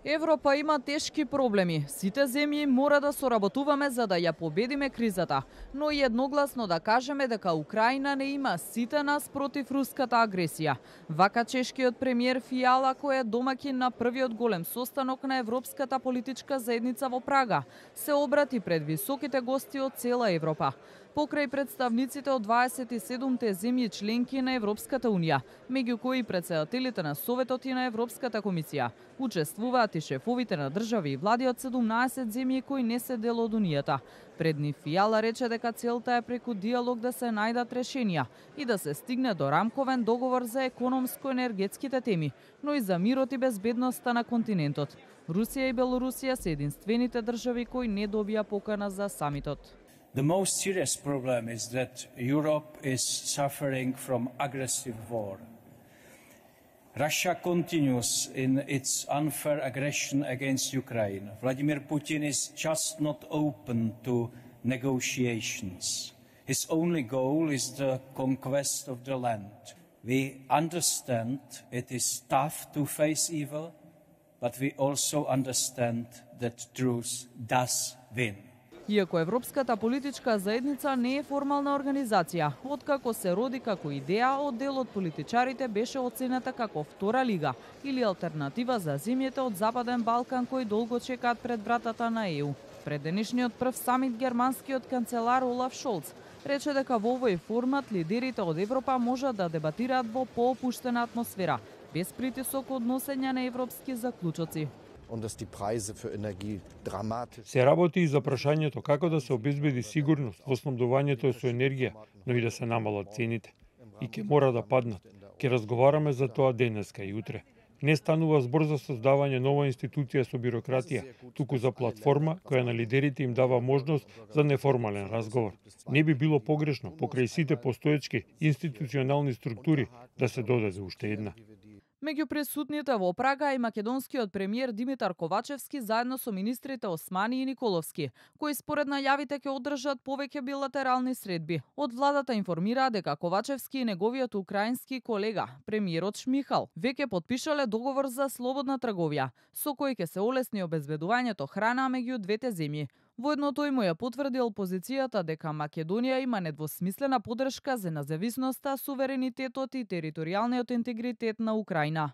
Европа има тешки проблеми. Сите земји мора да соработуваме за да ја победиме кризата, но и едногласно да кажеме дека Украина не има сите нас против руската агресија. Вака чешкиот премиер Фијала, кој е домаќин на првиот голем состанок на Европската политичка заедница во Прага, се обрати пред високите гости од цела Европа. Покрај представниците од 27-те земји членки на Европската унија, меѓу кои претседателите на Советот и на Европската комисија, учествуваат и шефовите на држави и влади од 17 земји кои не се дел од унијата. Пред нив Фијала рече дека целта е преку диалог да се најдат решенија и да се стигне до рамковен договор за економско-енергетските теми, но и за мирот и безбедноста на континентот. Русија и Белорусија се единствените држави кои не добија покана за самитот. The most serious problem is that Europe is suffering from aggressive war. Russia continues in its unfair aggression against Ukraine. Vladimir Putin is just not open to negotiations. His only goal is the conquest of the land. We understand it is tough to face evil, but we also understand that truth does win. Иако Европската политичка заедница не е формална организација, откако се роди како идеја, од дел од политичарите беше оценета како втора лига или алтернатива за земјите од Западен Балкан кои долго чекаат пред вратата на ЕУ. Пред денешниот прв самит германскиот канцелар Олаф Шолц рече дека во овој формат лидерите од Европа можат да дебатираат во поопуштена атмосфера, без притисок од носење на европски заклучоци. Се работи и за прашањето како да се обезбеди сигурност во снабдувањето со енергија, но и да се намалат цените. И ќе мора да паднат. Ќе разговараме за тоа денеска и утре. Не станува збор за создавање нова институција со бирократија, туку за платформа која на лидерите им дава можност за неформален разговор. Не би било погрешно покрај сите постоечки институционални структури да се додаде уште една. Меѓу присутните во Прага и македонскиот премиер Димитар Ковачевски заедно со министрите Османи и Николовски, кои според најавите ќе одржат повеќе билатерални средби. Од владата информираа дека Ковачевски и неговиот украински колега, премиерот Шмихал, веќе потпишале договор за слободна трговија, со кој ќе се олесни обезбедувањето храна меѓу двете земји. Воедно тој му ја потврдил позицијата дека Македонија има недвосмислена поддршка за независноста, суверенитетот и територијалниот интегритет на Украина.